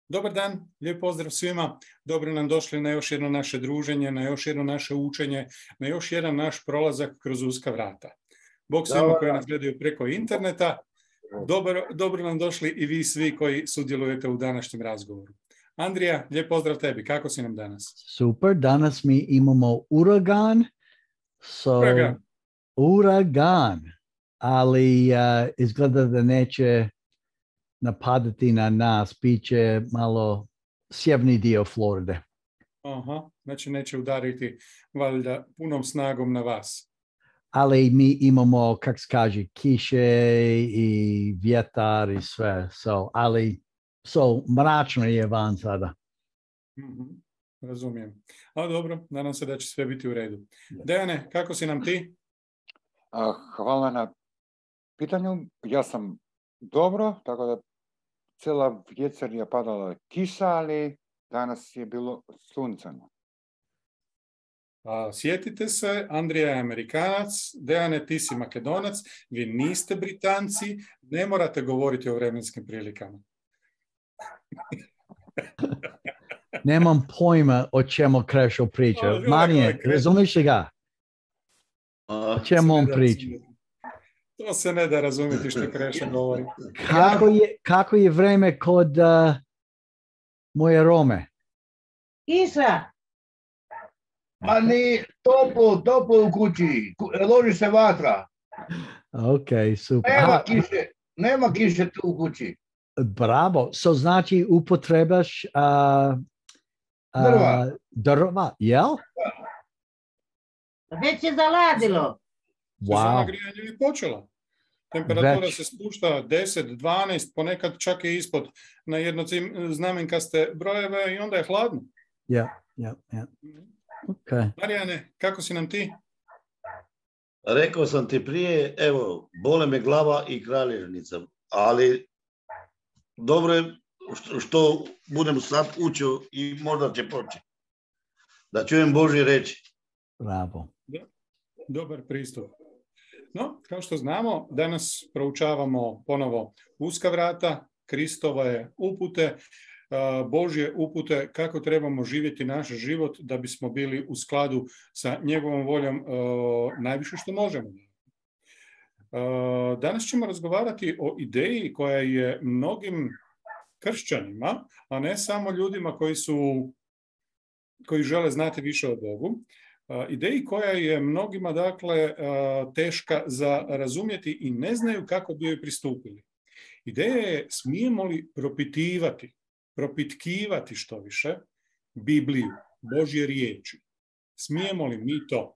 Dobar dan, lijep pozdrav svima. Dobro nam došli na još jedno naše druženje, na još jedno naše učenje, na još jedan naš prolazak kroz uska vrata. Bog svima koji nas gledaju preko interneta, dobro nam došli i vi svi koji sudjelujete u današnjem razgovoru. Andrija, lijep pozdrav tebi. Kako si nam danas? Super, danas mi imamo uragan. Uragan. Ali izgleda da neće napadati na nas, bit će malo sjeverni dio Floride. Aha, znači neće udariti valjda punom snagom na vas. Ali mi imamo, kako se kaže, kiše i vjetar i sve. Mračno je van sada. Razumijem. Ali dobro, nadam se da će sve biti u redu. Dejane, kako si nam ti? Hvala na pitanju. Ja sam dobro, tako da cijela večer je padala kiša, ali danas je bilo sunčano. Sjetite se, Andrija je Amerikanac, Dejane, ti si Makedonac, vi niste Britanci, ne morate govoriti o vremenskim prilikama. Nemam pojma o čemu Krešo priča. Marije, razumiš ga? O čemu on priča? To se ne da razumjeti što Krešo govori. Kako je vreme kod moje Rome? Kiša. Ma ni toplo u kući. Loži se vatra. Ok, super. Nema kiše tu u kući. Bravo. Znači upotrebaš drva, jel? Već je zaladilo. Sezona grijanja je počela. Temperatura se spušta 10, 12, ponekad čak i ispod na jednoznamenkaste brojeve i onda je hladno. Ja. Okay. Marijane, kako si nam ti? Rekao sam ti prije, evo, bole me glava i kraljevnica, ali dobro je što budem sad učio i možda će proći. Da čujem Božje reći. Bravo. Dobar pristup. No, kao što znamo, danas proučavamo ponovo uska vrata, Kristove upute, Božje upute kako trebamo živjeti naš život da bismo bili u skladu sa njegovom voljom najviše što možemo. Danas ćemo razgovarati o ideji koja je mnogim kršćanima, a ne samo ljudima koji žele znati više o Bogu, ideji koja je mnogima dakle teška za razumjeti i ne znaju kako bi joj pristupili. Ideja je smijemo li propitkivati što više Bibliju, Božje riječi. Smijemo li mi to?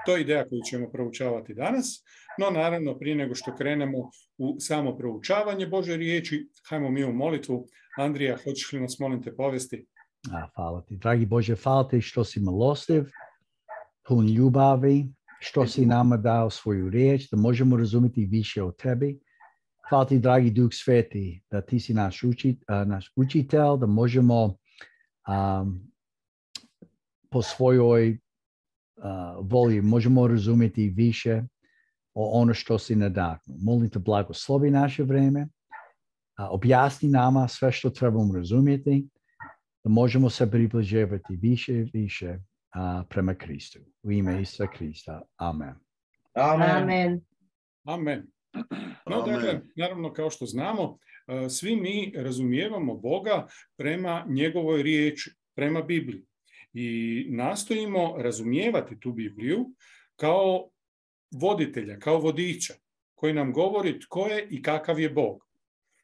To je ideja koju ćemo proučavati danas, no naravno prije nego što krenemo u samo proučavanje Božje riječi, hajmo mi u molitvu. Andrija, hoćeš li nas molim te povesti? Hvala ti, dragi Bože, hvala ti što si milostiv, pun ljubavi, što si nama dao svoju riječ, da možemo razumjeti više o tebi. Hvala ti, dragi Duh Sveti, da ti si naš učitelj, da možemo po svojoj volji možemo razumjeti više o ono što si nadahnuo. Molim te, blagoslovi naše vrijeme, objasni nama sve što trebamo razumjeti, da možemo se približavati više i više prema Kristu. U ime Isusa Krista. Amen. Amen. No, dakle, naravno, kao što znamo, svi mi razumijevamo Boga prema njegovoj riječi, prema Bibliji. I nastojimo razumijevati tu Bibliju kao voditelja, kao vodiča, koji nam govori tko je i kakav je Bog.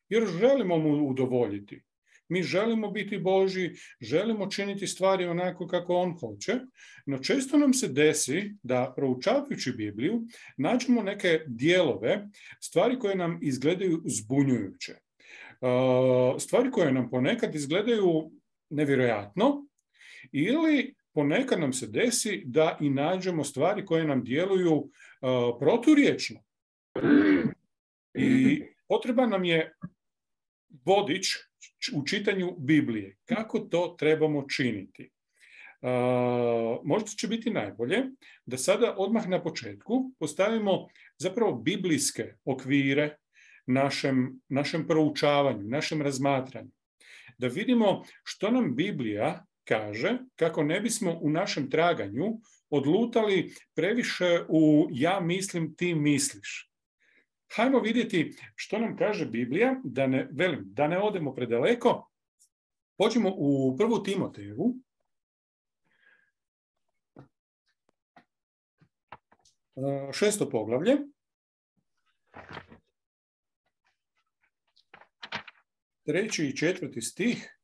Jer želimo mu udovoljiti. Mi želimo biti Božji, želimo činiti stvari onako kako on hoće, no često nam se desi da proučavajući Bibliju nađemo neke dijelove, stvari koje nam izgledaju zbunjujuće. Stvari koje nam ponekad izgledaju nevjerojatno ili ponekad nam se desi da i nađemo stvari koje nam djeluju proturječno. I potreban nam je vodič u čitanju Biblije. Kako to trebamo činiti? Možda će biti najbolje da sada odmah na početku postavimo zapravo biblijske okvire našem proučavanju, našem razmatranju. da vidimo što nam Biblija kaže, kako ne bismo u našem traganju odlutali previše u ja mislim, ti misliš. Hajmo vidjeti što nam kaže Biblija, da ne odemo predaleko. Pođimo u 1. Timotejevu. Šesto poglavlje. Treći i 4. stih.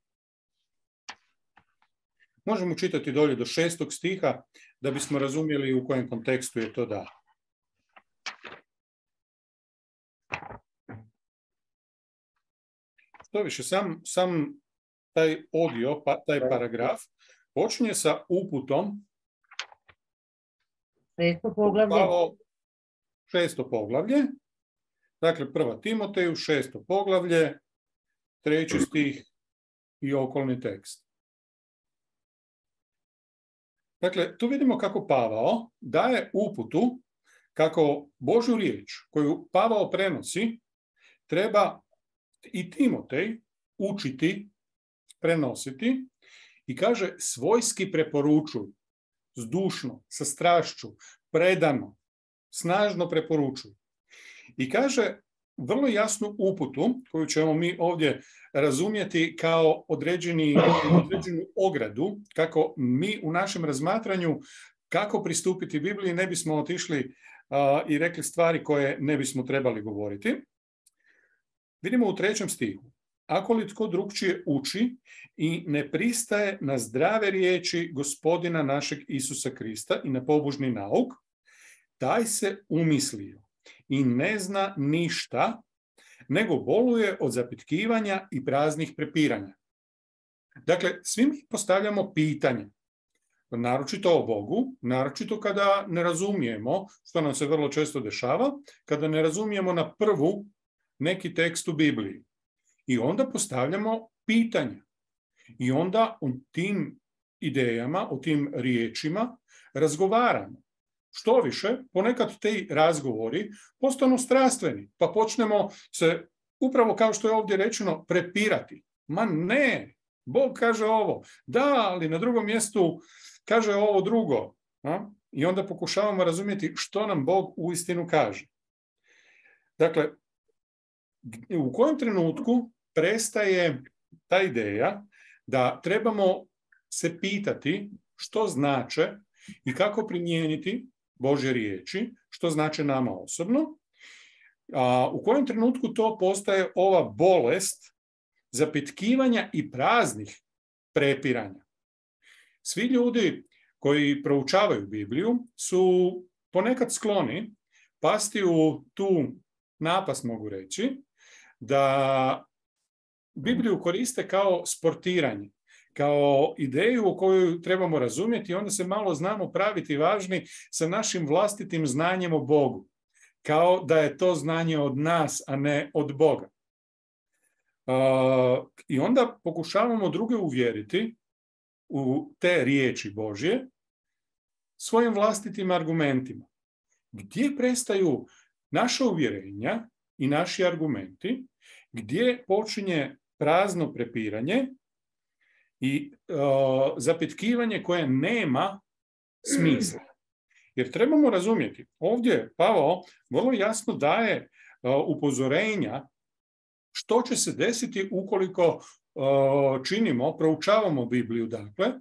Možemo čitati dolje do 6. stiha da bismo razumjeli u kojem kontekstu je to da. Što više, sam taj odio, taj paragraf, počinje sa uputom. 6. poglavlje. Šesto poglavlje. Dakle, 1. Timoteju, 6. poglavlje, 3. stih i okolni tekst. Dakle, tu vidimo kako Pavao daje uputu, kako Božju riječ koju Pavao prenosi, treba i Timotej učiti, prenositi i kaže svojski preporučuj, zdušno, sa strašću, predano, snažno preporučuj. I kaže vrlo jasnu uputu koju ćemo mi ovdje razumjeti kao određenu ogradu, kako mi u našem razmatranju kako pristupiti Bibliji ne bismo otišli i rekli stvari koje ne bismo trebali govoriti. Vidimo u 3. stihu. Ako li tko drugčije uči i ne pristaje na zdrave riječi Gospodina našeg Isusa Krista i na pobožni nauk, taj se umislio i ne zna ništa, nego boluje od zapitkivanja i praznih prepiranja. Dakle, svi mi postavljamo pitanja, naročito o Bogu, naročito kada ne razumijemo, što nam se vrlo često dešava, kada ne razumijemo na prvu neki tekst u Bibliji. I onda postavljamo pitanja. I onda o tim idejama, o tim riječima razgovaramo. Što više, ponekad te razgovori postanu strastveni, pa počnemo se, upravo kao što je ovdje rečeno, prepirati. Ma ne, Bog kaže ovo, da, ali na drugom mjestu kaže ovo drugo. I onda pokušavamo razumjeti što nam Bog uistinu kaže. Dakle, u kojem trenutku prestaje ta ideja da trebamo se pitati što znače i kako primijeniti Božje riječi, što znači nama osobno, a u kojem trenutku to postaje ova bolest zapitkivanja i praznih prepiranja. Svi ljudi koji proučavaju Bibliju su ponekad skloni pasti u tu napast, mogu reći, da Bibliju koriste kao sportiranje, kao ideju o kojoj trebamo razumjeti, onda se malo znamo praviti važni sa našim vlastitim znanjem o Bogu, kao da je to znanje od nas, a ne od Boga. I onda pokušavamo druge uvjeriti u te riječi Božje svojim vlastitim argumentima. Gdje prestaju naša uvjerenja i naši argumenti, gdje počinje prazno prepiranje i zapitkivanje koje nema smisla. Jer trebamo razumjeti, ovdje Pavao vrlo jasno daje upozorenja što će se desiti ukoliko proučavamo Bibliju, dakle,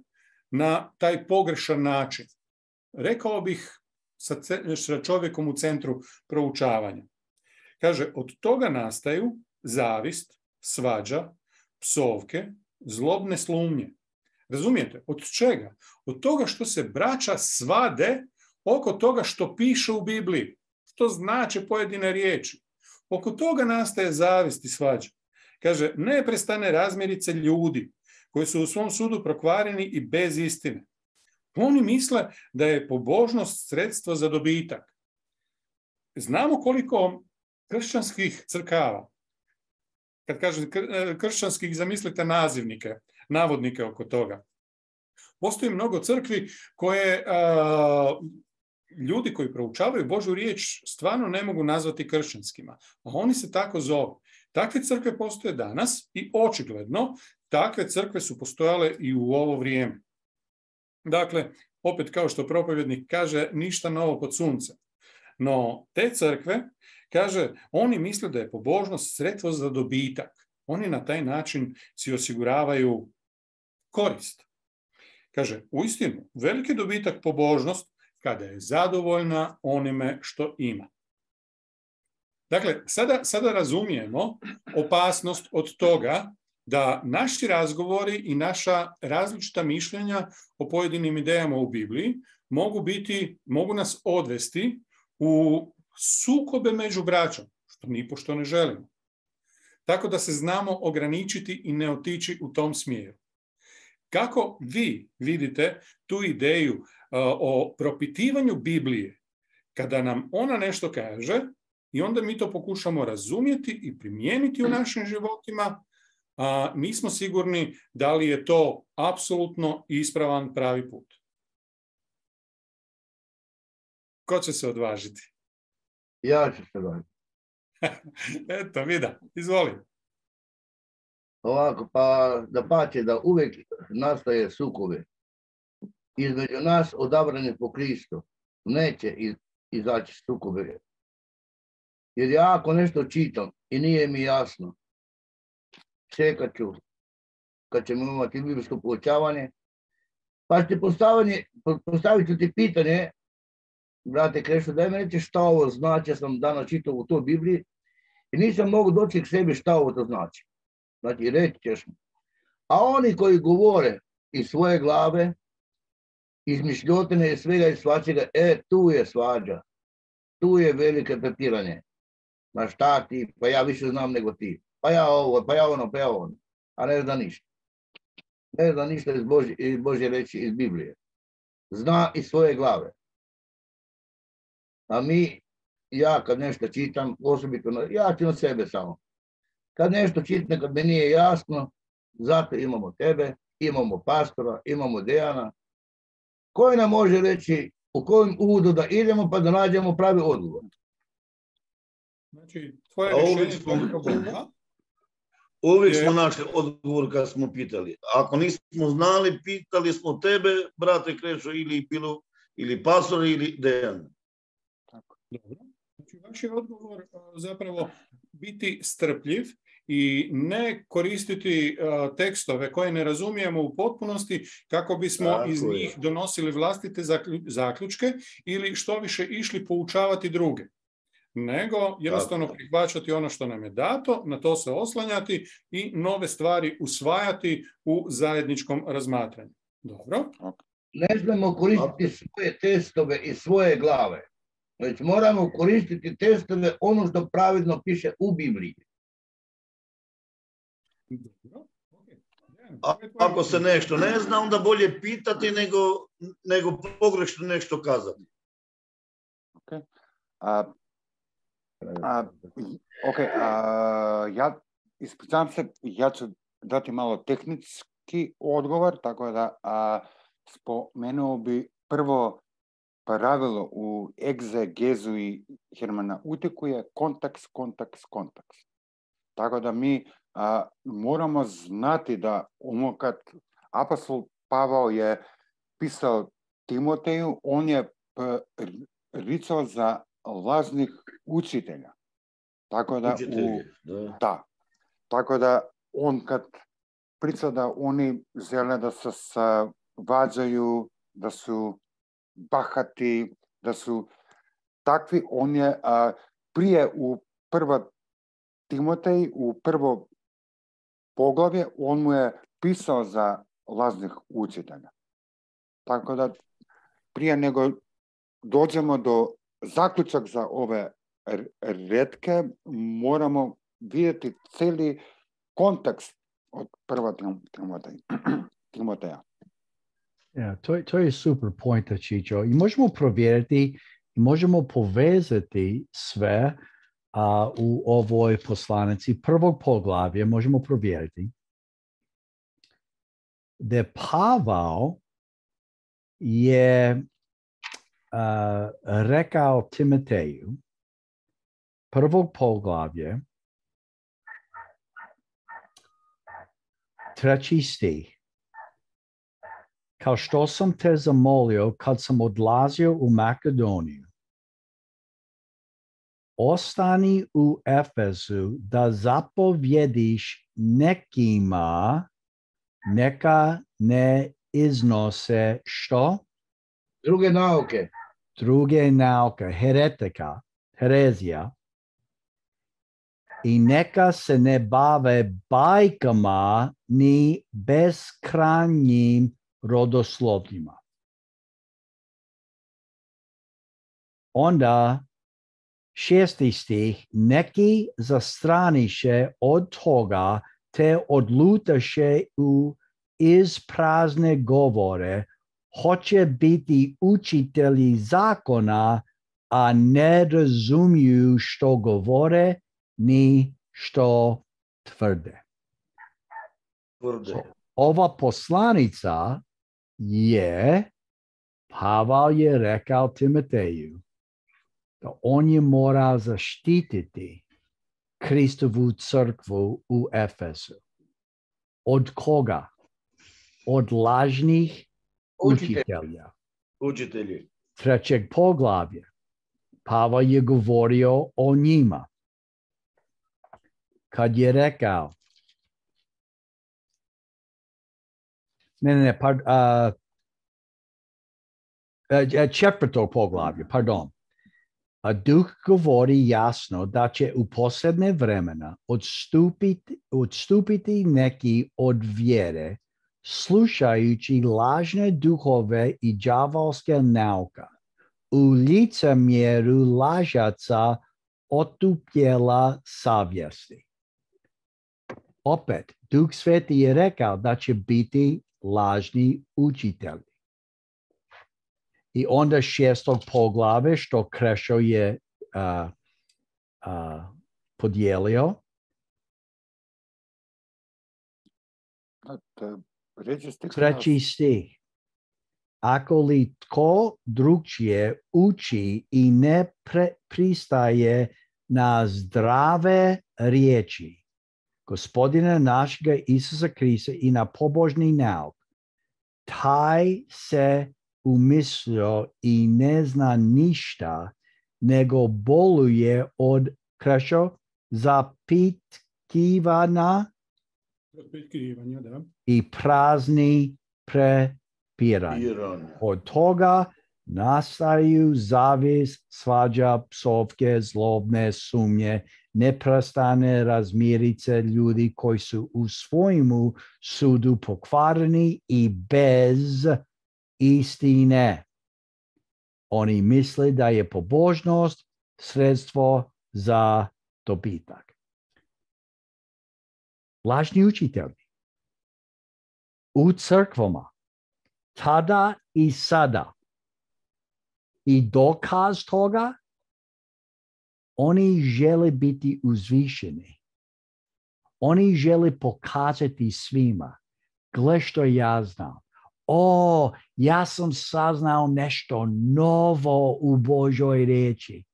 na taj pogrešan način. Rekao bih sa čovjekom u centru proučavanja. Kaže, od toga nastaju zavist, svađa, psovke, zlobne slumnje. Razumijete? Od čega? Od toga što se braća svade oko toga što piše u Bibliji, što znače pojedine riječi. Oko toga nastaje zavist i svađa. Kaže, neprestane razmirice ljudi koji su u svom sudu prokvareni i bez istine. Oni misle da je pobožnost sredstvo za dobitak. Znamo koliko kršćanskih crkava, kad kažem kršćanskih, zamislite nazivnike, navodnike oko toga. Postoji mnogo crkvi koje ljudi koji proučavaju Božju riječ stvarno ne mogu nazvati kršćanskima, a oni se tako zovu. Takve crkve postoje danas i očigledno takve crkve su postojale i u ovo vrijeme. Dakle, opet kao što propovjednik kaže, ništa novo pod suncem. No, te crkve, kaže, oni misle da je pobožnost sredstvo za dobitak. Oni na taj način si osiguravaju korist. Kaže, uistinu, veliki dobitak pobožnost kada je zadovoljna onime što ima. Dakle, sada razumijemo opasnost od toga da naši razgovori i naša različita mišljenja o pojedinim idejama u Bibliji mogu nas odvesti u sukobe među braćom, što nipošto ne želimo. Tako da se znamo ograničiti i ne otići u tom smjeru. Kako vi vidite tu ideju o propitivanju Biblije, kada nam ona nešto kaže i onda mi to pokušamo razumjeti i primijeniti u našim životima, a nismo sigurni da li je to apsolutno ispravan pravi put? Ko će se odvažiti? Ja ću se odvažiti. Eto, Vida, izvoli. Ovako, pa da pače da uvijek nastaje sukobe. Između nas odabrani po Kristu neće izaći sukobe. Jer ja ako nešto čitam i nije mi jasno, čekat ću kad ćemo imati biblijsko poučavanje, pa ću postavit ću ti pitanje, brate Krešo, daj mi reći šta ovo znači, ja sam danas čitao u toj Bibliji i nisam mogu doći k sebi šta ovo to znači. Znači, reći ćeš mi. A oni koji govore iz svoje glave, izmišljotine i svega i svačega, tu je svađa, tu je velike prepiranje. Ma šta ti, pa ja više znam nego ti. Pa ja ovo, pa ja ono, pa ja ono. A ne zna ništa. Ne zna ništa iz Božje reči, iz Biblije. Zna iz svoje glave. A ja kad nešto čitam, osobito, ja ću na sebe samo. Kad nešto čitam, kad mi nije jasno, zato imamo tebe, imamo pastora, imamo Dejana, koji nam može reći u kojem uvodu da idemo pa da nađemo pravi odgovor. Znači, tvoje rješenje problema. Uvijek smo našli odgovor kad smo pitali. Ako nismo znali, pitali smo tebe, brate Krešo, ili pastora, ili Dejan. Dobro. Znači, vaš je odgovor zapravo biti strpljiv i ne koristiti tekstove koje ne razumijemo u potpunosti kako bismo iz njih donosili vlastite zaključke ili što više išli poučavati druge. Nego jednostavno prihvaćati ono što nam je dato, na to se oslanjati i nove stvari usvajati u zajedničkom razmatranju. Dobro? Ne smemo koristiti svoje testove i svoje glave. Već moramo koristiti testove ono što pravilno piše u Bibliji. Ako se nešto ne zna, onda bolje pitati nego pogrešno nešto kazati. Ja ispričavam se, ja ću dati malo tehnički odgovor, tako da spomenuo bi prvo pravilo u egzegezu i hermeneutiku je kontekst. Tako da mi moramo znati da kad apostol Pavao je pisao Timoteju, on je ricao za lažnih učitelja. Tako da on kad priča da oni žele da se svađaju, da su bahati, da su takvi, on je prije u prva Timotej, u prvo poglavlje, on mu je pisao za lažnih učitelja. Tako da prije nego dođemo do zaključak za ove retke, moramo vidjeti cijeli kontekst od prva Timoteja. To je super point, Čičo. I možemo provjeriti i možemo povezati sve u ovoj poslanici prvog poglavlja. Možemo provjeriti da Pavao je rekao Timoteju prvog poglavlja Treći stih. Kao što sam te zamolio kad sam odlazio u Makedoniju, ostani u Efezu da zapovjediš nekima neka ne iznose što? Druge nauke. Druge nauke, heretika, herezija. I neka se ne bave bajkama ni beskrajnim rodoslovljima. Onda 6. stih, neki zastraniše od toga te odlutaše u isprazne govore, hoće biti učitelji zakona, a ne razumiju što govore ni što tvrde. Ova poslanica je, Pavel je rekao Timoteju, da on je mora zaštititi Kristovu crkvu u Efesu. Od koga? Od lažnih učitelja. Učitelji. 3. poglavlja. Pavel je govorio o njima. Kad je rekao, četvrto poglavlje, pardon. A Duh govori jasno da će u posljednje vremena odstupiti neki od vjere, slušajući lažne duhove i đavolske nauka, u licemjeru lažaca otupljela savjesti. Opet, Duh Sveti je rekao da će biti lažni učitelji. I onda 6. poglavlje što Krešo je podijelio. Treći stih. Ako li tko drugčije uči i ne pristaje na zdrave riječi Gospodina našega Isusa Krista i na pobožni nauk, taj se umislio i ne zna ništa, nego boluje od Krešo zapitkivanja da. i prazni prepiranja. Od toga nastaju zavist, svađa, psovke, zlobne sumnje, neprestane razmirice ljudi koji su u svojemu sudu pokvareni i bez istine. Oni misle da je pobožnost sredstvo za dobitak. Lažni učitelji u crkvama tada i sada i dokaz toga, oni žele biti uzvišeni. Oni žele pokazati svima, gle što ja znam. Ja sam saznao nešto novo u Božoj riječi.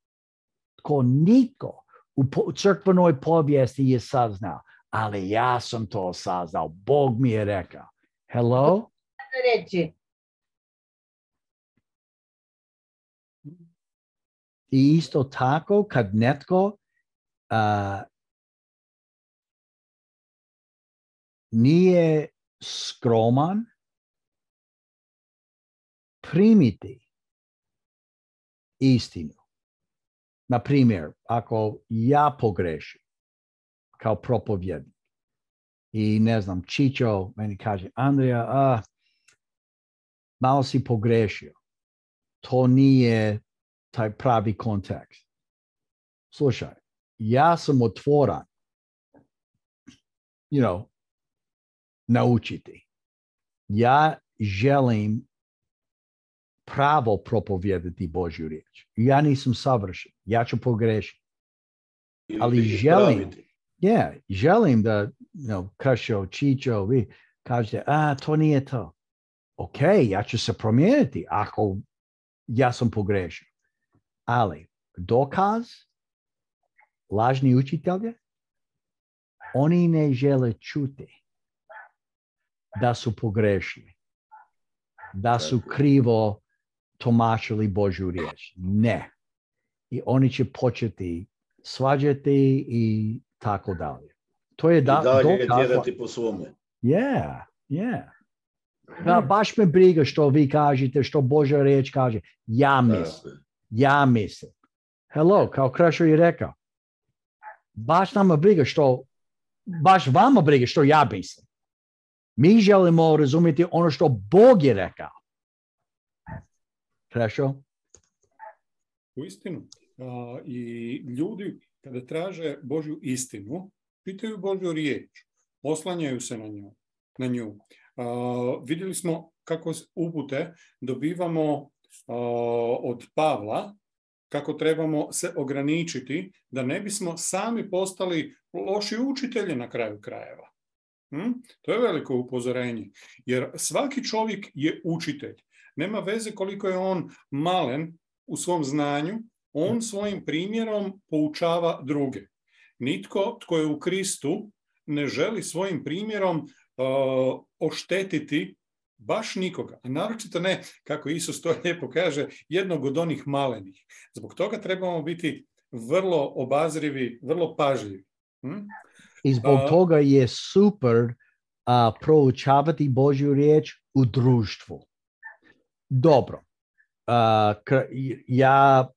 Tko niko u crkvenoj povijesti je saznao, ali ja sam to saznao. Bog mi je rekao. Hello? Reći. I isto tako kad netko nije skroman, primiti istinu. Na primjer, ako ja pogrešim kao propovjednik i ne znam, Čičo meni kaže, Andrija, malo si pogrešio. To nije taj pravi kontekst. Slušaj, ja sam otvoran, naučiti. Ja želim pravo propovijedati Božju riječ. Ja nisam savršen. Ja ću pogrešiti. Ali želim da Krešo, Čičo, vi kažete, to nije to. Ok, ja ću se promijeniti ako ja sam pogrešio. Ali dokaz, lažni učitelje, oni ne žele čuti. da su pogrešili, da su krivo tumačili Božju riječ. Ne. I oni će početi svađati i tako dalje. To je I dalje tjerati po svome. Yeah. Da, baš me briga što vi kažete, što Božja riječ kaže. Ja mislim. Hello, kao Krešo je rekao. Baš nama briga što, baš vama briga što ja mislim. Mi želimo razumjeti ono što Bog je rekao. Krešo? Uistinu. I ljudi kada traže Božju istinu, pitaju Božju riječ, oslanjaju se na nju. Vidjeli smo kako upute dobivamo od Pavla, kako trebamo se ograničiti da ne bismo sami postali loši učitelji na kraju krajeva. To je veliko upozorenje, jer svaki čovjek je učitelj. Nema veze koliko je on malen u svom znanju, on svojim primjerom poučava druge. Nitko tko je u Kristu ne želi svojim primjerom oštetiti baš nikoga, a naročito ne, kako Isus to lijepo kaže, jednog od onih malenih. Zbog toga trebamo biti vrlo obazrivi, vrlo pažljivi. I zbog toga je super proučavati Božju riječ u društvu. Dobro, ja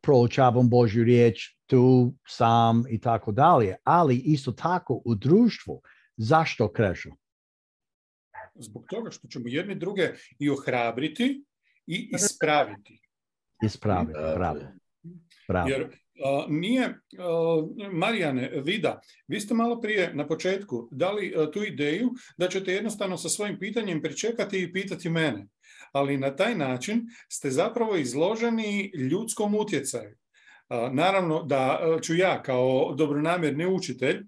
proučavam Božju riječ tu sam i tako dalje, ali isto tako u društvu. Zašto, Krešo? Zbog toga što ćemo jedni druge i ohrabriti i ispraviti. Ispraviti, bravo. Jer nije, Marijane, Vida, vi ste malo prije na početku dali tu ideju da ćete jednostavno sa svojim pitanjem pričekati i pitati mene. Ali na taj način ste zapravo izloženi ljudskom utjecaju. Naravno da ću ja kao dobronamjerni učitelj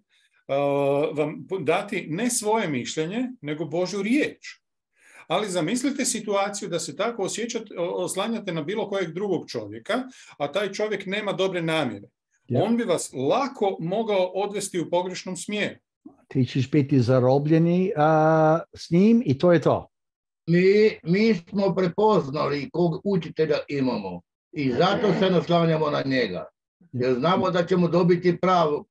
vam dati ne svoje mišljenje, nego Božju riječ. Ali zamislite situaciju da se tako oslanjate na bilo kojeg drugog čovjeka, a taj čovjek nema dobre namjere. On bi vas lako mogao odvesti u pogrešnom smjeru. Ti ćeš biti zarobljeni s njim i to je to. Mi smo prepoznali kog učitelja imamo i zato se naslanjamo na njega. Jer znamo da ćemo dobiti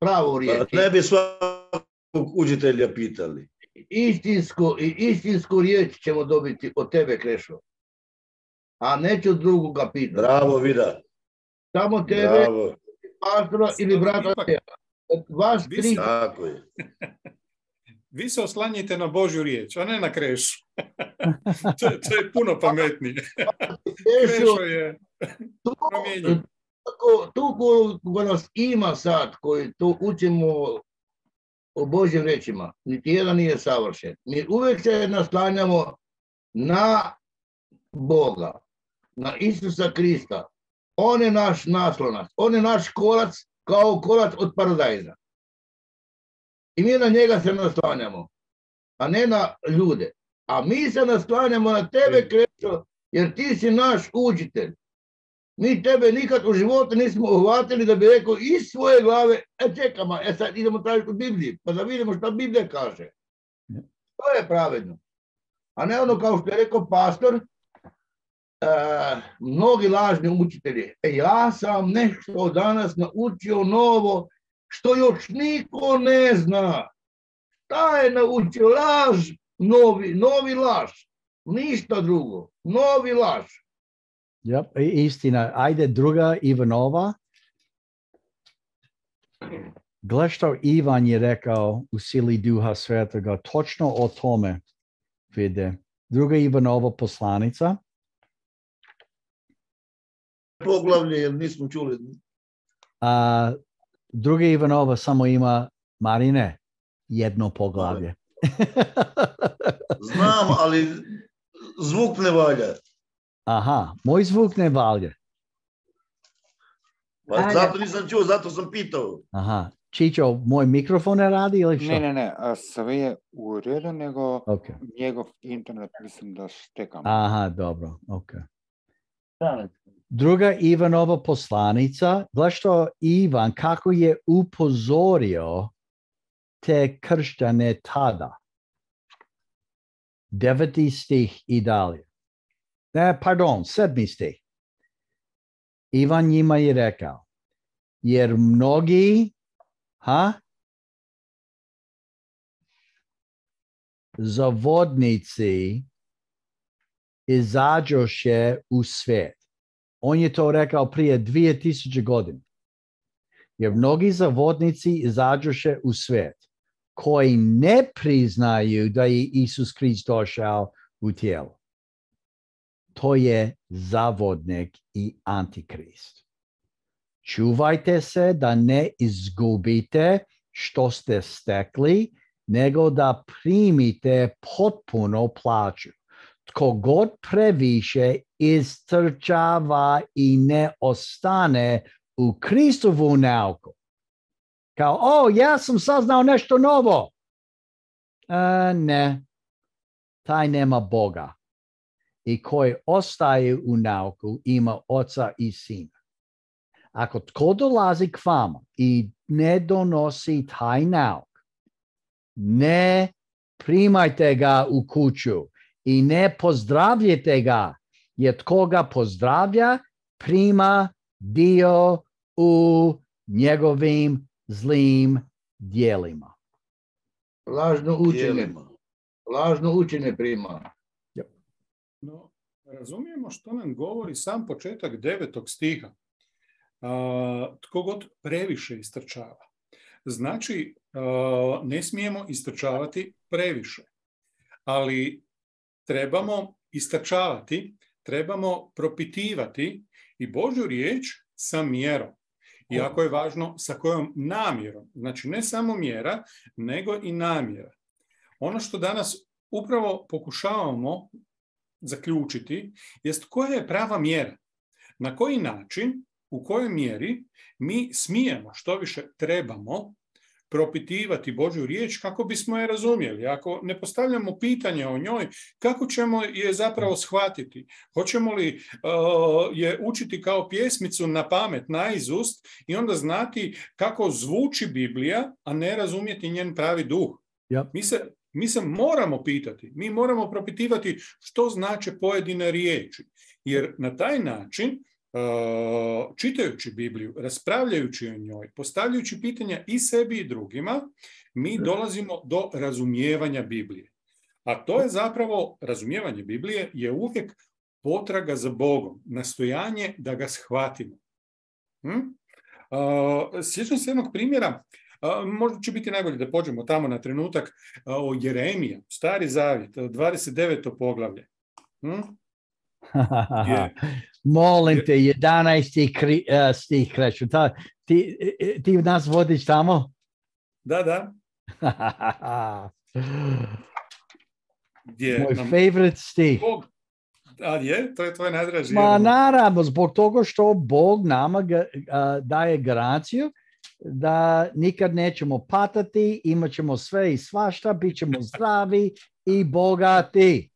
pravu riječ. Ne bi svakog učitelja pitali. Istinsku riječ ćemo dobiti od tebe, Krešo. A neću drugoga pitati. Bravo, Vida. Samo tebe, pastora ili brata. Vas tri. Tako je. Vi se oslanjite na Božju riječ, a ne na Krešu. To je puno pametnije. Krešo je promijenjen. Tu ko nas ima sad, koji tu učimo o Božjim rečima, niti jedan nije savršen. Mi uvijek se naslanjamo na Boga, na Isusa Krista. On je naš naslonac, on je naš kolac kao kolac od paradajza. I mi na njega se naslanjamo, a ne na ljude. A mi se naslanjamo na tebe, Krešo, jer ti si naš učitelj. Mi tebe nikad u životu nismo uhvatili da bi rekao iz svoje glave, čekamo, sad idemo tražiti u Bibliji, pa da vidimo šta Biblija kaže. To je pravedno. A ne ono kao što je rekao pastor, mnogi lažni učitelji. Ja sam nešto danas naučio novo, što još niko ne zna. Šta je naučio? Laž, novi laž. Ništa drugo. Novi laž. Yep, istina. Ajde druga Ivanova. Gle što Ivan je rekao u sili Duha Svetoga, točno o tome vide. Druga Ivanova poslanica. Poglavlje, jer nismo čuli. Druga Ivanova samo ima, Marine, jedno poglavlje. Znam, ali zvuk ne valja. Aha, moj zvuk ne valja. Pa zato nisam čuo, zato sam pitao. Aha, Čičo, moj mikrofon ne radi ili što? Ne, sve je u redu, nego njegov internet mislim da štekam. Aha, dobro, ok. Druga Ivanova poslanica, gledaj što Ivan, kako je upozorio te kršćane tada. 9. stih i dalje. Pardon, 7. stih. Ivan njima je rekao, jer mnogi zavodnici izađoše u svijet. On je to rekao prije 2000 godina. Jer mnogi zavodnici izađoše u svijet koji ne priznaju da je Isus Krist došao u tijelu. To je zavodnik i antikrist. Čuvajte se da ne izgubite što ste stekli, nego da primite potpuno plaću. Tko god previše istrčava i ne ostane u Kristovu nauku. Kao, ja sam saznao nešto novo. Ne, taj nema Boga. I koji ostaje u nauku ima oca i sina. Ako tko dolazi k vama i ne donosi taj nauk, ne primajte ga u kuću i ne pozdravljajte ga, jer tko ga pozdravlja, prima dio u njegovim zlim djelima. Lažno učenje prima. No, razumijemo što nam govori sam početak 9. stiha. Tko god previše istrčava. Znači, ne smijemo istrčavati previše, ali trebamo istrčavati, trebamo propitivati i Božju riječ sa mjerom. I jako je važno sa kojom namjerom. Znači, ne samo mjera, nego i namjera. Ono što danas upravo pokušavamo zaključiti jest koja je prava mjera. Na koji način, u kojoj mjeri mi smijemo, što više trebamo, propitivati Božju riječ kako bismo je razumjeli. Ako ne postavljamo pitanje o njoj, kako ćemo je zapravo shvatiti? Hoćemo li je učiti kao pjesmicu na pamet, naizust i onda znati kako zvuči Biblija, a ne razumjeti njen pravi duh? Yep. Mi se moramo pitati, mi moramo propitivati što znače pojedine riječi. Jer na taj način, čitajući Bibliju, raspravljajući o njoj, postavljajući pitanja i sebi i drugima, mi dolazimo do razumijevanja Biblije. A to je zapravo, razumijevanje Biblije je uvijek potraga za Bogom, nastojanje da ga shvatimo. Sjećam se jednog primjera, možda će biti najbolje da pođemo tamo na trenutak, o Jeremija, Stari Zavjet, 29. poglavlje. Molim te, 11. stih kreću. Ti nas vodiš tamo? Da. Moj favorite stih. To je tvoj najdraži. Naravno, zbog toga što Bog nama daje garanciju da nikad nećemo patati, imat ćemo sve i svašta, bit ćemo zdravi i bogati.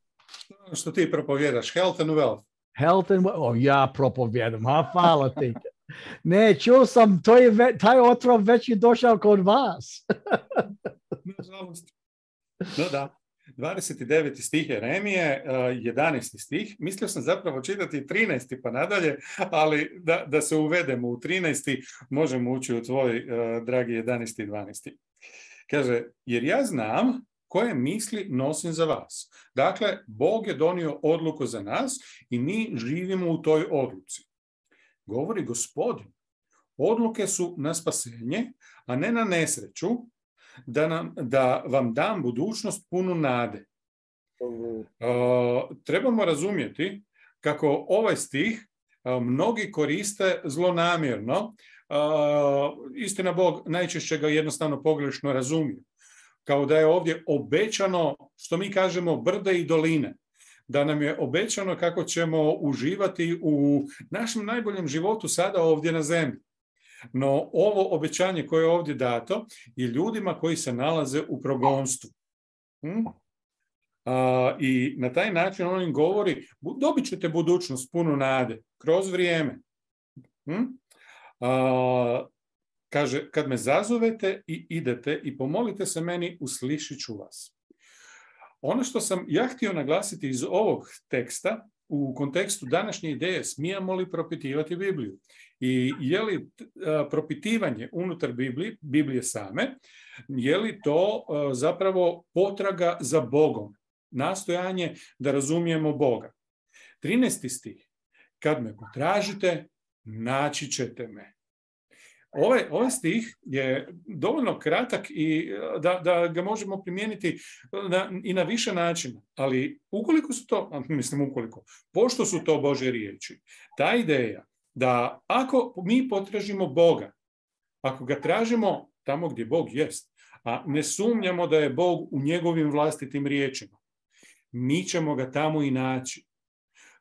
Što ti propovjedaš, health and wealth. Health and wealth, ja propovjedam, hvala ti. Ne, čuo sam, taj otrov već je došao kod vas. Nažalost. No da, 29. stih Jeremije, 11. stih. Mislio sam zapravo čitati 13. pa nadalje, ali da se uvedemo u 13. možemo ući u tvoj, dragi 11. i 12. Kaže, jer ja znam koje misli nosim za vas. Dakle, Bog je donio odluku za nas i mi živimo u toj odluci. Govori Gospodin, odluke su na spasenje, a ne na nesreću, da vam dam budućnost punu nade. Trebamo razumjeti kako ovaj stih mnogi koriste zlonamjerno. Istina, Bog najčešće ga jednostavno pogrešno razumije. Kao da je ovdje obećano, što mi kažemo, brde i doline. Da nam je obećano kako ćemo uživati u našem najboljem životu sada ovdje na zemlji. No ovo obećanje koje je ovdje dato je ljudima koji se nalaze u progonstvu. I na taj način on im govori, dobit ćete budućnost punu nade kroz vrijeme. Kaže, kad me zazovete i idete i pomolite se meni, uslišit ću vas. Ono što sam ja htio naglasiti iz ovog teksta, u kontekstu današnje ideje, smijemo li propitivati Bibliju? I je li propitivanje unutar Biblije same, je li to zapravo potraga za Bogom? Nastojanje da razumijemo Boga. 13. stih. Kad me potražite, naći ćete me. Ovaj stih je dovoljno kratak i da ga možemo primijeniti i na više načina, ali pošto su to Božje riječi, ta ideja da ako mi potražimo Boga, ako ga tražimo tamo gdje Bog jest, a ne sumnjamo da je Bog u njegovim vlastitim riječima, mi ćemo ga tamo i naći.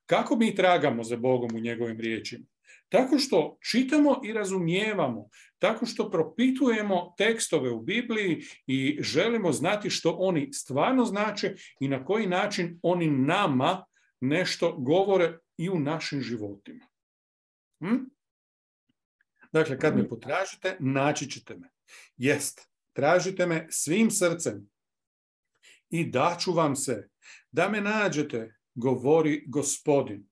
Kako mi tragamo za Bogom u njegovim riječima? Tako što čitamo i razumijevamo, tako što propitujemo tekstove u Bibliji i želimo znati što oni stvarno znače i na koji način oni nama nešto govore i u našim životima. Dakle, kad me potražite, naći ćete me. Jest, tražite me svim srcem i daću vam se. Da me nađete, govori Gospodin.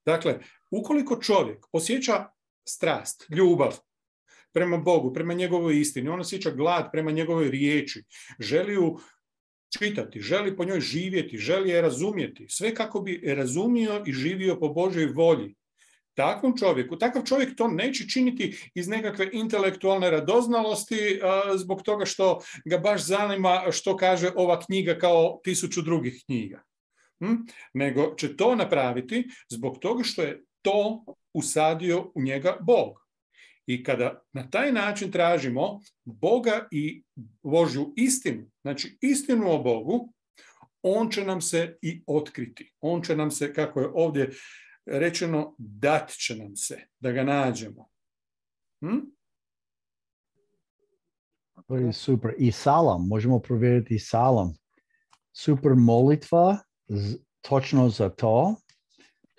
Dakle, ukoliko čovjek osjeća strast, ljubav prema Bogu, prema njegovoj istini, on osjeća glad prema njegovoj riječi, želi ju čitati, želi po njoj živjeti, želi je razumjeti, sve kako bi razumio i živio po Božoj volji. Takav čovjek to neće činiti iz nekakve intelektualne radoznalosti, zbog toga što ga baš zanima što kaže ova knjiga kao 1000 drugih knjiga. Nego će to napraviti zbog toga što je to usadio u njega Bog. I kada na taj način tražimo Boga i Božju istinu, znači istinu o Bogu, on će nam se i otkriti. On će nam se, kako je ovdje rečeno, dat će nam se da ga nađemo. To je super. I salam, možemo provjeriti salam. Super molitva, točno za to.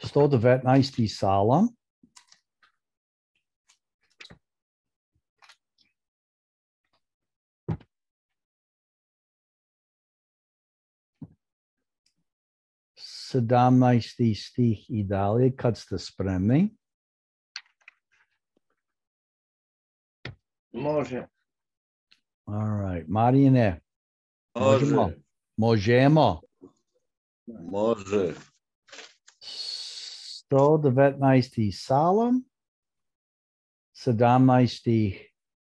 119. salam. Sedamnaesti stih i dalje, kad ste spremni. Može. All right. Marijane. Može. Možemo. Može. 119. salam. 17.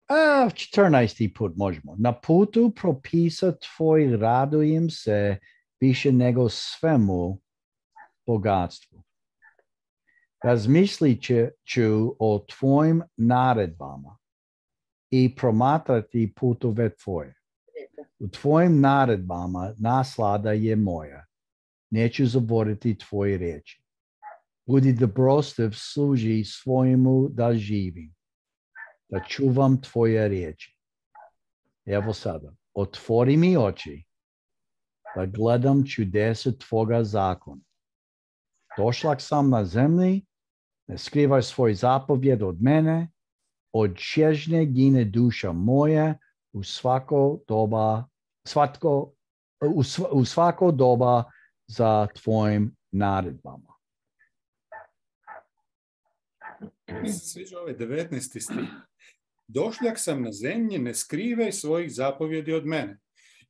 14. put možemo. Na putu propisa tvoj radujem se više nego svemu bogatstvu. Razmislit ću o tvojim naredbama i promatrati putove tvoje. U tvojim naredbama naslada je moja. Neću zaboraviti tvoje riječi. Budi dobrostiv, služi svojemu da živim, da čuvam tvoje riječi. Evo sada, otvori mi oči, da gledam čudesa tvoga zakona. Došlak sam na zemlji, ne skrivaj svoj zapovjed od mene, od čežnje gine duša moja u svako doba za tvojim naredbama. Mi se sviđa ovaj 19. stih. Došljak sam na zemlji, ne skrivaj svojih zapovjedi od mene.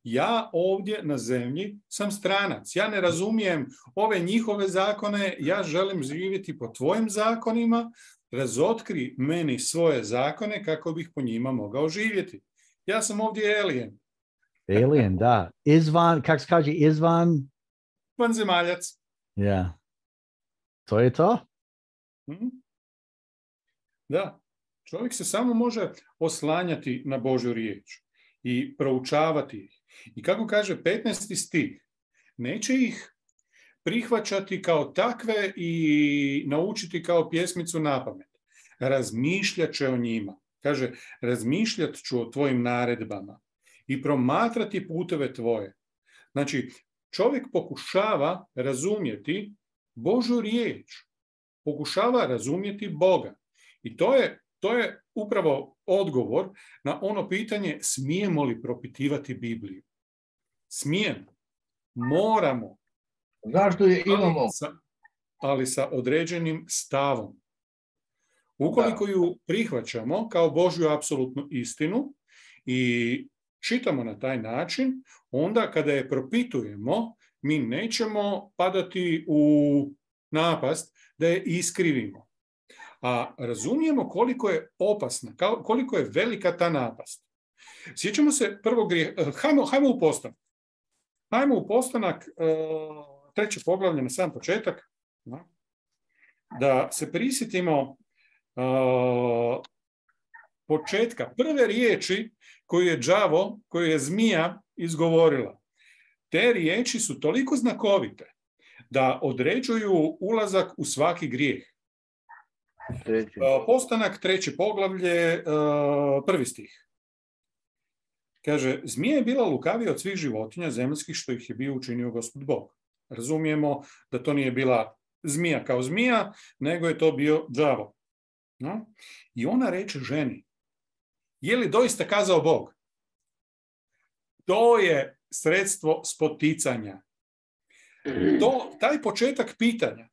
Ja ovdje na zemlji sam stranac. Ja ne razumijem ove njihove zakone. Ja želim živjeti po tvojim zakonima. Razotkri meni svoje zakone kako bih po njima mogao živjeti. Ja sam ovdje alien. Alien, da. Izvan, kako se kaže, izvan? Vanzemaljac. Ja. To je to? Da. Čovjek se samo može oslanjati na Božju riječ i proučavati ih. I kako kaže 15. stih, neće ih prihvaćati kao takve i naučiti kao pjesmicu napamet. Razmišljat će o njima. Kaže, razmišljat ću o tvojim naredbama i promatrati puteve tvoje. Znači, čovjek pokušava razumjeti Božju riječ. Pokušava razumjeti Boga. I to je upravo odgovor na ono pitanje smijemo li propitivati Bibliju. Smijemo. Moramo. Zašto je imamo? Ali sa određenim stavom. Ukoliko ju prihvaćamo kao Božju apsolutnu istinu i čitamo na taj način, onda kada je propitujemo, mi nećemo padati u napast da je iskrivimo. A razumijemo koliko je opasna, koliko je velika ta napast. Sjećamo se prvog grijeha. Hajmo u postanak. Hajmo u postanak, 3. poglavlje na sam početak, da se prisjetimo početka, prve riječi koju je zmija izgovorila. Te riječi su toliko znakovite da određuju ulazak u svaki grijeh. Postanak, 3. poglavlje, 1. stih. Kaže, zmija je bila lukavija od svih životinja zemaljskih što ih je bio učinio Gospod Bog. Razumijemo da to nije bila zmija kao zmija, nego je to bio đavo. No? I ona reče ženi, je li doista kazao Bog? To je sredstvo spoticanja. Taj početak pitanja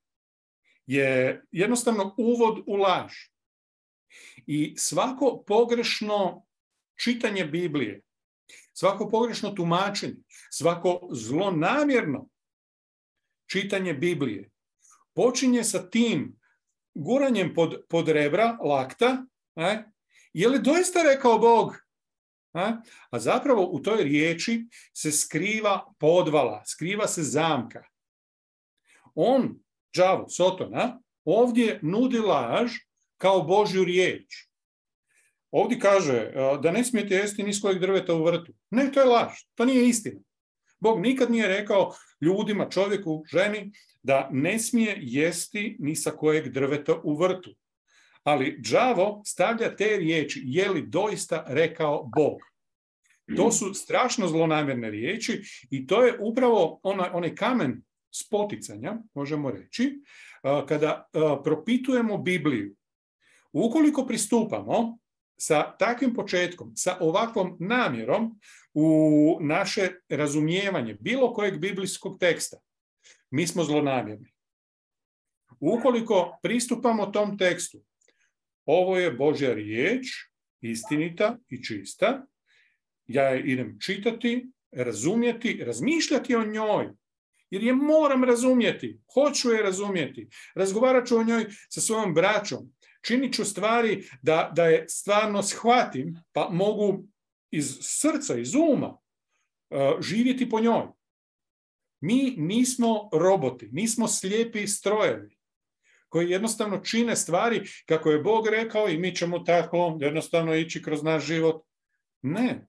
je jednostavno uvod u laž. I svako pogrešno čitanje Biblije, svako pogrešno tumačenje, svako zlonamjerno čitanje Biblije počinje sa tim guranjem pod rebra, lakta, je li doista rekao Bog? A zapravo u toj riječi se skriva podvala, skriva se zamka. On, đavo, Sotona, ovdje nudi laž kao Božju riječ. Ovdje kaže da ne smijete jesti ni s kojeg drveta u vrtu. Ne, to je laž, to nije istina. Bog nikad nije rekao ljudima, čovjeku, ženi, da ne smije jesti ni sa kojeg drveta u vrtu. Ali đavo stavlja te riječi, je li doista rekao Bog. To su strašno zlonamjerne riječi i to je upravo onaj kamen spoticanja, možemo reći, kada propitujemo Bibliju. Ukoliko pristupamo sa takvim početkom, sa ovakvom namjerom u naše razumijevanje bilo kojeg biblijskog teksta, mi smo zlonamjerni. Ukoliko pristupamo tom tekstu, ovo je Božja riječ, istinita i čista, ja je idem čitati, razumjeti, razmišljati o njoj, jer je moram razumjeti, hoću je razumjeti, razgovarat ću o njoj sa svojom braćom, činit ću stvari da je stvarno shvatim, pa mogu iz srca, iz uma živjeti po njoj. Mi nismo roboti, nismo slijepi strojevi koji jednostavno čine stvari kako je Bog rekao i mi ćemo tako jednostavno ići kroz naš život. Ne.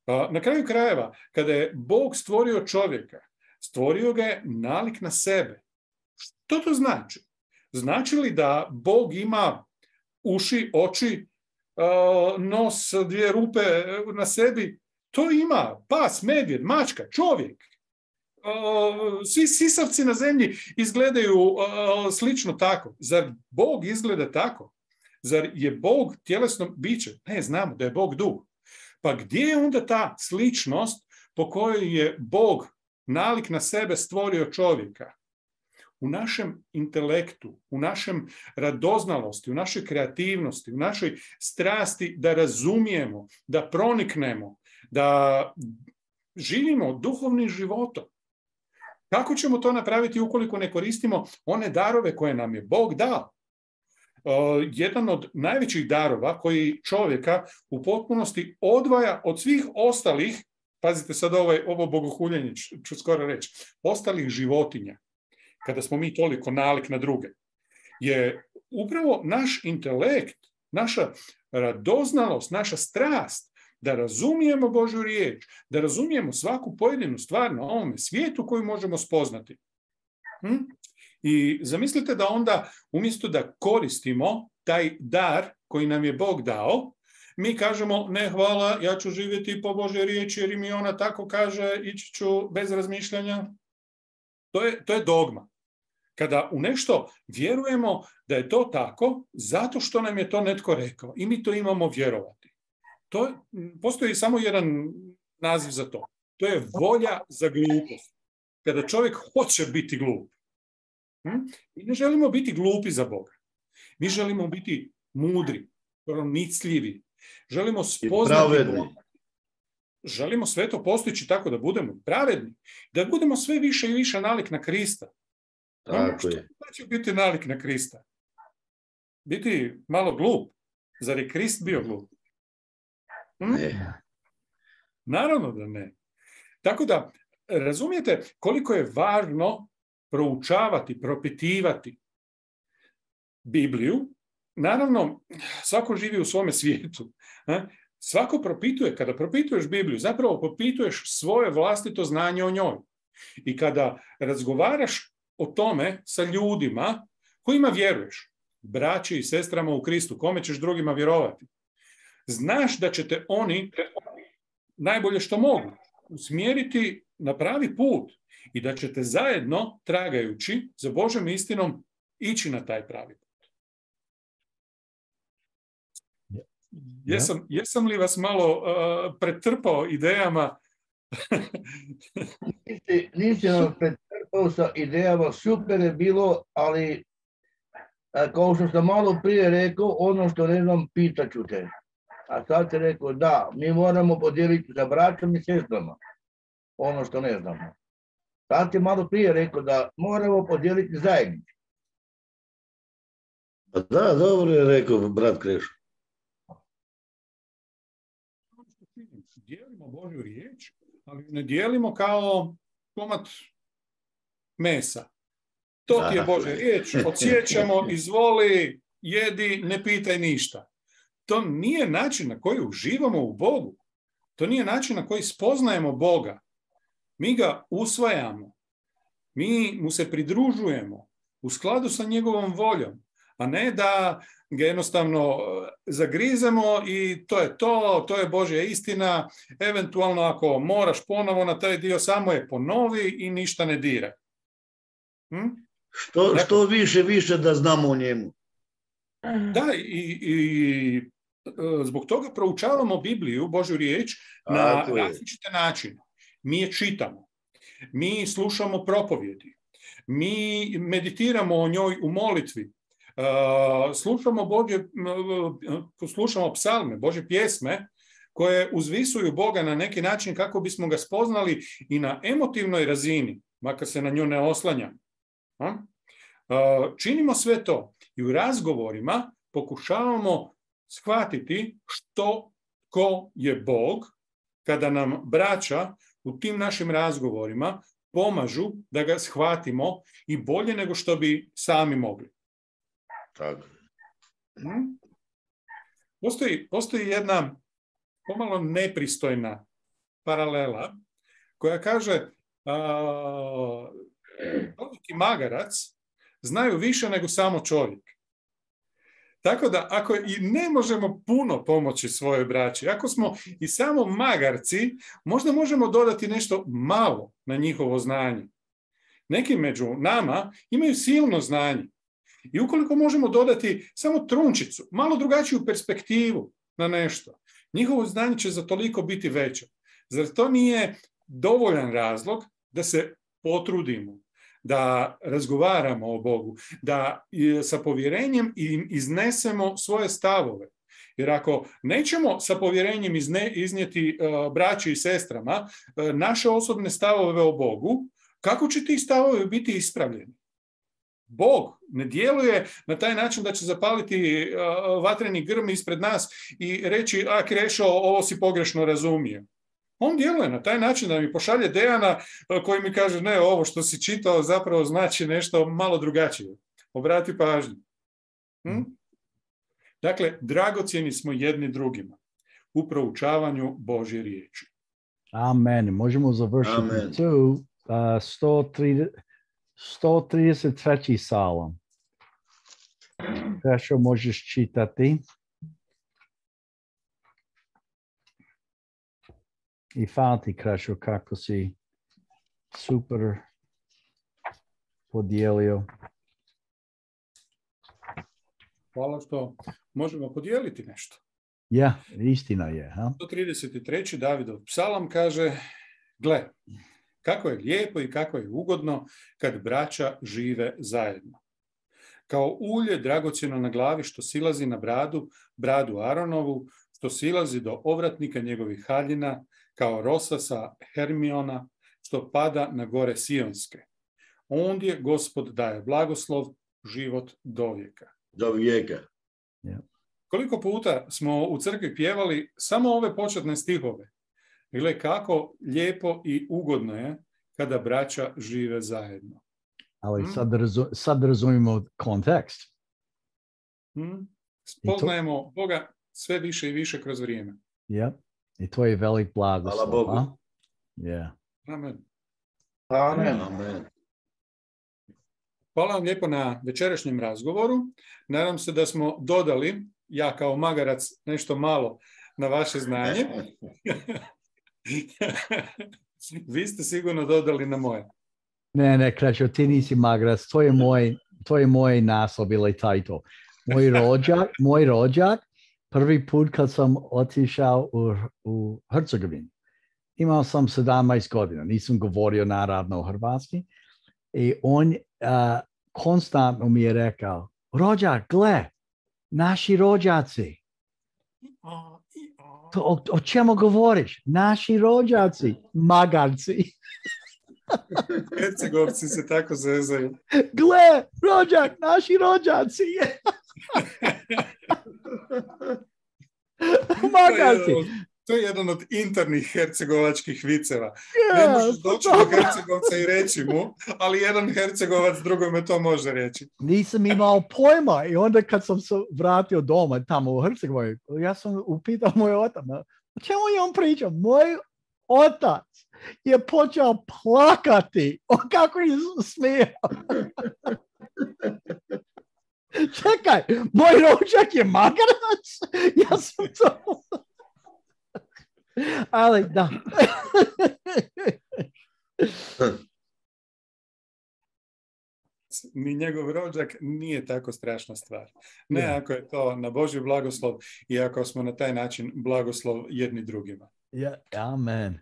Na kraju krajeva, kada je Bog stvorio čovjeka, stvorio ga je nalik na sebe. Što to znači? Znači li da Bog ima uši, oči, nos, 2 rupe na sebi? To ima pas, medvjed, mačka, čovjek. Svi sisavci na zemlji izgledaju slično tako. Zar Bog izgleda tako? Zar je Bog tjelesno biće? Ne, znamo da je Bog duh. Pa gdje je onda ta sličnost po kojoj je Bog nalik na sebe stvorio čovjeka? U našem intelektu, u našem radoznalosti, u našoj kreativnosti, u našoj strasti da razumijemo, da proniknemo, da živimo duhovnim životom. Kako ćemo to napraviti ukoliko ne koristimo one darove koje nam je Bog dao? Jedan od najvećih darova koji čovjeka u potpunosti odvaja od svih ostalih, pazite sad ovo bogohuljenje ću skoro reći, ostalih životinja, kada smo mi toliko nalik na druge, je upravo naš intelekt, naša radoznalost, naša strast, da razumijemo Božju riječ, da razumijemo svaku pojedinu stvar na ovome svijetu koju možemo spoznati. I zamislite da onda, umjesto da koristimo taj dar koji nam je Bog dao, mi kažemo, ne hvala, ja ću živjeti po Božjoj riječi jer mi ona tako kaže, ići ću bez razmišljanja. To je dogma. Kada u nešto vjerujemo da je to tako, zato što nam je to netko rekao i mi to imamo vjerovati. Postoji samo jedan naziv za to. To je volja za glupost. kada čovjek hoće biti glup. Mi ne želimo biti glupi za Boga. Mi želimo biti mudri, pronicljivi. Želimo spoznati Boga. Želimo sve to postići tako da budemo pravedni, da budemo sve više i više nalik na Krista. Tako je. Što će biti nalik na Krista? Biti malo glup. Zar je Krist bio glup? Ne. Naravno da ne. Tako da, razumijete koliko je važno proučavati, propitivati Bibliju. Naravno, svako živi u svome svijetu. Svako propituje. Kada propituješ Bibliju, zapravo propituješ svoje vlastito znanje o njoj. I kada razgovaraš o tome sa ljudima kojima vjeruješ, braći i sestrama u Kristu, kome ćeš drugima vjerovati, znaš da će te oni najbolje što mogu usmjeriti na pravi put i da ćete zajedno, tragajući za Božjom istinom, ići na taj pravi put. Jesam li vas malo pretrpao idejama? Nisi nam pretrpao sa idejama, super je bilo, ali kao što sam malo prije rekao, ono što ne znam, pitaću te. A sad ti rekao, da, mi moramo podijeliti sa braćom i sestrama ono što ne znamo. Sad ti malo prije rekao da moramo podijeliti zajednicu. Da, dobro je rekao brat Krešo. Dijelimo Božju riječ, ali ne dijelimo kao komad mesa. To ti je Božja riječ, odsjećamo, izvoli, jedi, ne pitaj ništa. To nije način na koji uživamo u Bogu. To nije način na koji spoznajemo Boga. Mi ga usvajamo. Mi mu se pridružujemo u skladu sa njegovom voljom, a ne da ga jednostavno zagrizemo i to je Božja istina. Eventualno ako moraš ponovo na taj dio, samo je ponovi i ništa ne diraj. Što više da znamo o njemu. Da, i zbog toga proučavamo Bibliju, Božju riječ, na različite načine. Mi je čitamo, mi slušamo propovjedi, mi meditiramo o njoj u molitvi, slušamo psalme, Božje pjesme, koje uzvisuju Boga na neki način kako bismo ga spoznali i na emotivnoj razini, makar se na nju ne oslanjamo. Činimo sve to i u razgovorima pokušavamo shvatiti ko je Bog, kada nam braća u tim našim razgovorima pomažu da ga shvatimo i bolje nego što bi sami mogli. Tako. Postoji jedna pomalo nepristojna paralela koja kaže čovjek i magarac znaju više nego samo čovjek. Tako da ako i ne možemo puno pomoći svojoj braći, ako smo i samo magarci, možda možemo dodati nešto malo na njihovo znanje. Neki među nama imaju silno znanje. I ukoliko možemo dodati samo trunčicu, malo drugačiju perspektivu na nešto, njihovo znanje će za toliko biti veće. Zar to nije dovoljan razlog da se potrudimo, da razgovaramo o Bogu, da sa povjerenjem iznesemo svoje stavove? Jer ako nećemo sa povjerenjem iznijeti braći i sestrama naše osobne stavove o Bogu, kako će ti stavovi biti ispravljeni? Bog ne djeluje na taj način da će zapaliti vatreni grm ispred nas i reći, Krešo, ovo si pogrešno razumio. On djeluje na taj način da mi pošalje Dejana koji mi kaže, ne, ovo što si čitao zapravo znači nešto malo drugačije. Obrati pažnju. Dakle, dragocjeni smo jedni drugima u proučavanju Božje riječi. Amen. Možemo završiti tu 133. psalam. Krešo, možeš čitati. I hvala ti, Krešo, kako si super podijelio. Hvala što možemo podijeliti nešto. Ja, istina je. 133. Davidov psalam kaže, gle, Kako je lijepo i kako je ugodno kad braća žive zajedno. Kao ulje dragocjeno na glavi što silazi na bradu Aronovu, što silazi do ovratnika njegovih haljina, kao rosa sa Hermiona, što pada na gore Sionske. Ondje Gospod daje blagoslov, život do vijeka. Do vijeka. Yeah. Koliko puta smo u crkvi pjevali samo ove početne stihove. Gle kako lijepo i ugodno je kada braća žive zajedno. Ali sad razumijemo kontekst. Spoznajemo Boga sve više i više kroz vrijeme. Ja. I to je velik blagoslov. Hvala Bogu. A? Yeah. Amen. Amen. Amen. Hvala vam lijepo na večerašnjem razgovoru. Nadam se da smo dodali, ja kao magarac, nešto malo na vaše znanje. Vi ste sigurno dodali na moje. Ne, Krešo, ti nisi magarac, to je moj naslov ili title. Moj rođak, prvi put kad sam otišao u Hercegovinu, imao sam 17 godina, nisam govorio naravno hrvatski, i on konstantno mi je rekao, rođak, gle, naši rođaci. O čemu govoriš? Naši rođaci, magarci. Hercegovci se tako zezaju. Gle, rođak, naši rođaci. Magarci. To je jedan od internih hercegovačkih viceva. Ne možeš doći do Hercegovca i reći mu, ali jedan Hercegovac drugome to može reći. Nisam imao pojma i onda kad sam se vratio doma tamo u Hercegovini, ja sam upitao moj otac, o čemu je on pričao? Moj otac je počeo plakati. Kako je smijao. Čekaj, moj rođak je magarac? Ja sam to... Ali da. Ni njegov rođak nije tako strašna stvar. Ne ako je to na Božji blagoslov i ako smo na taj način blagoslov jedni drugima. Amen.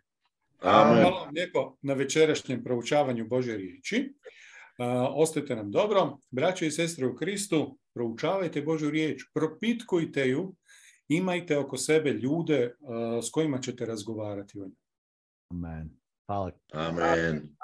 Hvala vam lijepo na večerašnjem proučavanju Božje riječi. Ostajte nam dobro. Braće i sestre u Kristu, proučavajte Božju riječ, propitkujte ju, imajte oko sebe ljude s kojima ćete razgovarati o njoj. Amen. Hvala. Amen.